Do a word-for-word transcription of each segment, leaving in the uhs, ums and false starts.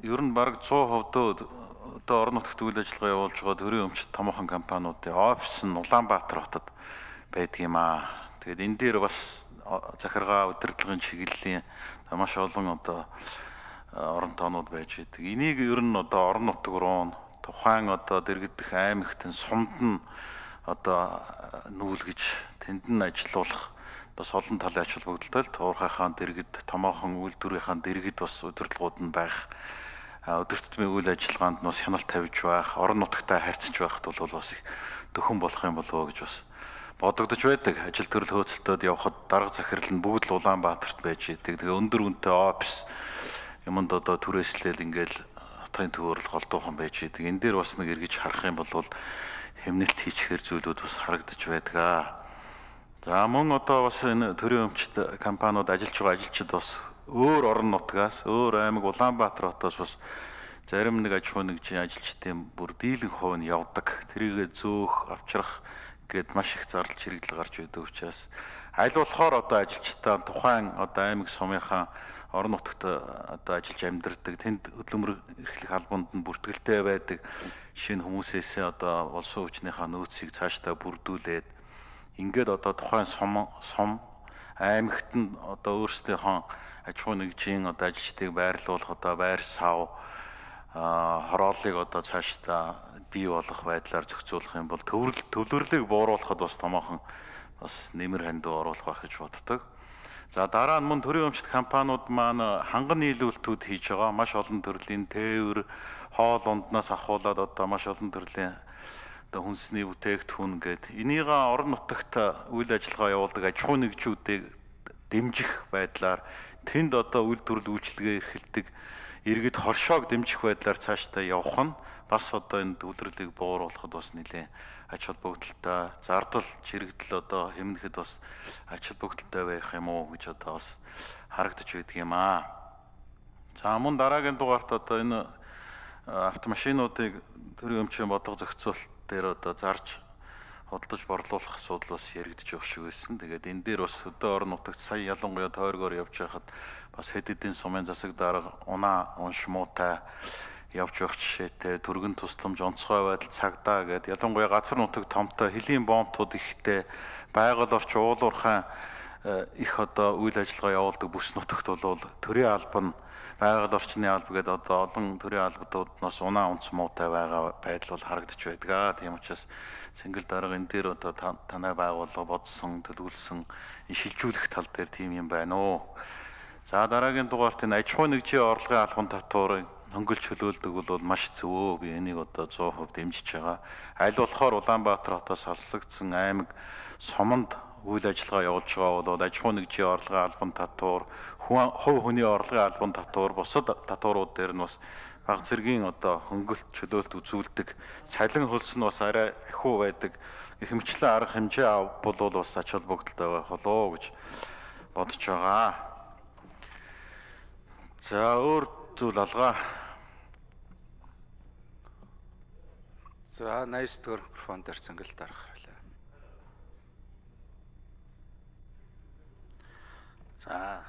ер нь бараг сто хувьд одоо орон нутагт үйл ажиллагаа явуулж байгаа төрийн өмчт томоохон компаниудын офис нь Улаанбаатар хотод байдаг юм аа. Тэгээд энэ дээр бас захиргаа удирдлагын чиглэлийн маш олон одоо орон тоонууд байж байдаг. Энийг ер нь одоо орон нутаг руу тухайн одоо дэргэдэх аймагт нь сумд нь одоо нүүлгэж тэнд нь ажиллуулах бас олон талын ач холбогдолтой туурхайхаа дэргэд томоохон үйлдвэрийнхаа дэргэд бас удирдлагууд нь байх. Өдөртмийн үйл ажиллагаанд нь бас хяналт тавьж байх, орон нутагтай харьцаж байхад бол бас их дөхөн болох юм болов гэж бас бодогдож байдаг. Ажил төрөл хөөцөлтөд явхад дарга захирал нь бүгд л Улаанбаатарт байж идэг. Тэгээ өндөр үнэтэй офис юмд одоо түрээслэл ингээл хотын төвөөрөл голдуухан байж идэг. Энэ дээр бас нэг эргэж харах юм бол хэмнэлт хийчихэр зүйлүүд бас харагдаж байдаг аа. За мөн одоо бас энэ төрийн өмчт компаниуд ажиллаж байгаа ажилчид бас өөр орон нутгаас, өөр аймаг Улаанбаатар хотоос бас зарим нэг аж ахуй нэгжийн ажилчдын бүр дийлэн хувь нь явдаг. Тэрийгэ зөөх, авчрах гээд маш их зардал чирэгдэл гарч байдаг учраас аль болохоор одоо ажилчдаа тухайн одоо аймаг сумынхаа орон нутагт одоо ажиллаж амьдардаг тэнд хөдөлмөр эрхлэх албанд нь бүртгэлтэй байдаг шинэ хүмүүсээс одоо улсын хүчнийхээ нөөцийг цаашдаа бүрдүүлээд ингээд одоо тухайн сум сум аймагт нь одоо өөрсдийнхөө аж ахуй нэгжийн одоо ажилчдыг байрлуулах одоо байр сав хорооллыг одоо цаашдаа бий болох байдлаар зохицуулах юм бол төвлөрөл төвлөрлийг бууруулахад бас томоохон бас нэмэр хандуу оруулах байх гэж боддог. За дараа нь мөн төрийн өмчт компаниуд маань ханган нийлүүлэлтүүд хийж байгаа. Маш олон төрлийн тээвэр, хоол унднаас ахуулаад одоо маш олон төрлийн одоо хүнсний бүтээгдэхүүн гээд энийг орон нутагт үйл ажиллагаа явуулдаг аж ахуй нэгжүүдийг дэмжих байдлаар тэнд одоо үйлдвэрлэл үйлчилгээ эрхэлдэг иргэд хоршоог дэмжих байдлаар цаашдаа явах нь бас одоо энэ төвлөрлийг бууруулахад бас нэлээд ач холбогдолтой, зардал чирэгдэл одоо хэмнэхэд бас ач холбогдолтой байх юм уу гэж одоо бас харагдаж байдаг юм аа. За мөн дараагийн дугаарт одоо энэ автомашинуудыг төрийн өмчийн бодлого зохицуулалт дээр одоо зарж худалдаж борлуулах асуудал бас яригдж явах шиг байсан. Тэгээд энэ дээр бас хөдөө орон нутагт сая ялангуяа тойргоор явж байхад бас хэд хэдэн сумын засаг дарга унаа унш муутай явж явах жишээтэй түргэн тусламж онцгой байдал цагдаа гэдэг ялангуяа газар нутаг томтой хөлийн бомбтууд ихтэй байгаль орч уулуурхай их одоо үйл ажиллагаа явуулдаг бүс нутагт бол төрийн алба нь байгаль орчны алба гэдэг одоо олон төрийн албадууднаас унаа унц муутай байгаа байдал бол харагдаж байдаг. Тийм учраас цэнгэл дарга энэ дээр одоо танай байгууллага бодсон, төлөвлөсөн шилжүүлэх тал дээр тийм юм байна уу. За дараагийн дугаарт энэ аж ахуй нэгжийн орлогын албан татварыг хөнгөлж хөлөөлдөг бол маш зөвөө. Би энийг одоо сто хувьд дэмжиж байгаа. Аль болохоор Улаанбаатар хотоос алслагдсан аймаг суманд үйл ажиллагаа явуулж байгаа бол аж ахуй нэгжийн орлогын албан татвар, хувь хүний орлогын албан татвар, бусад татварууд дээр нь бас бага зэргийн одоо хөнгөлт чөлөөлт үзүүлдэг. Цалин хөлс нь бас арай ахиу байдаг. Ихэмчлэн арга хэмжээ бол бас ач холбогдолтой байх болоо гэж бодож байгаа. За өөр зүйл алгаа. За найс төр микрофон дээр цэнгэл дарах хэрэгтэй. За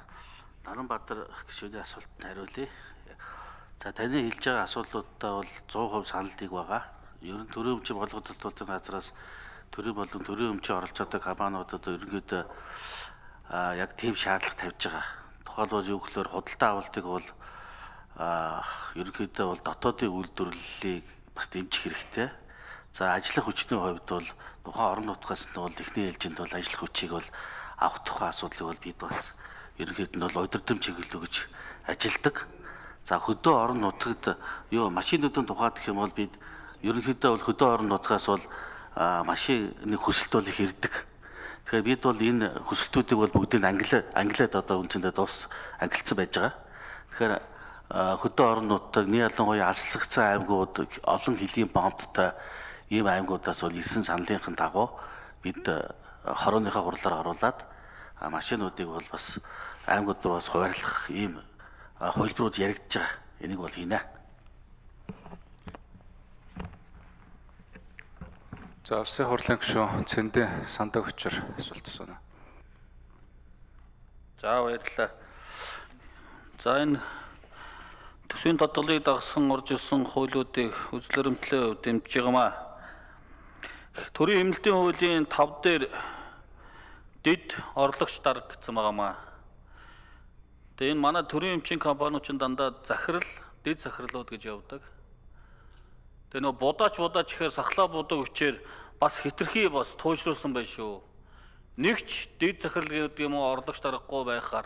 Наранбаатар гишүүний асуултанд хариулъя. За таны хэлж байгаа асуудлуудаа бол сто хувь саналдыг байгаа. Ер нь төрийн өмчийн бодлогодлолтын газраас төрийн болон төрийн өмчийн оролцоотой компаниудад ерөнхийдөө яг тийм шаардлага тавьж байгаа. Тухайлбал юу гэхээр худалдаа авалтыг бол ерөнхийдөө бол дотоодын үйлдвэрлэлийг бас дэмжих хэрэгтэй. За ажиллах хүчний хувьд бол тухайн орон нутгаас нь бол техникийн ээлжинд бол ажиллах хүчийг бол авах тухай асуудлыг бол бид бас ерөнхийдөө нь бол удирдам чиглэл өгж ажилдаг. За хөдөө орон нутагт юу машинуудын тухайд гэх юм бол бид ерөнхийдөө бол хөдөө орон нутгаас бол машины хүсэлт бол их ирдэг. Тэгэхээр бид бол энэ хүсэлтүүдийг бол бүгдийг англи англиад одоо үндсэндээ дуус ангилсан байж байгаа. Тэгэхээр хөдөө орон нутаг нэг ялангуяа алслагдсан аймагуд олон хөлийн бомбтой ийм аймагудаас бол ирсэн саналынхын дагуу бид хорооныхаа хурлаар оруулаад машинуудыг бол бас аймагуд руу бас хуваарлах ийм хувилбарууд яригдж байгаа. Энийг бол хийнэ. За Улсын хурлын гишүүн Цэндэ Сандаг Хүчээр асуулт асууна. За баярлалаа. За энэ Төсвийн дадлыг дагсан орж ирсэн хуулиудыг үзлэремтлээ дэмжиж байгаамаа. Төрийн эмнэлтийн хуулийн тав дээр дэд орлогч дарга гэсэн байгаамаа. Тэгээ энэ манай төрийн эмчийн компаниуд ч дандаа захирал, дэд захирлууд гэж явдаг. Тэгээ нөө будаач будаач гэхээр сахлаа будаг хүчээр бас хитрхи бас туужруулсан байх шүү. Нэгч дэд захирал гэдэг юм уу орлогч даргагүй байхаар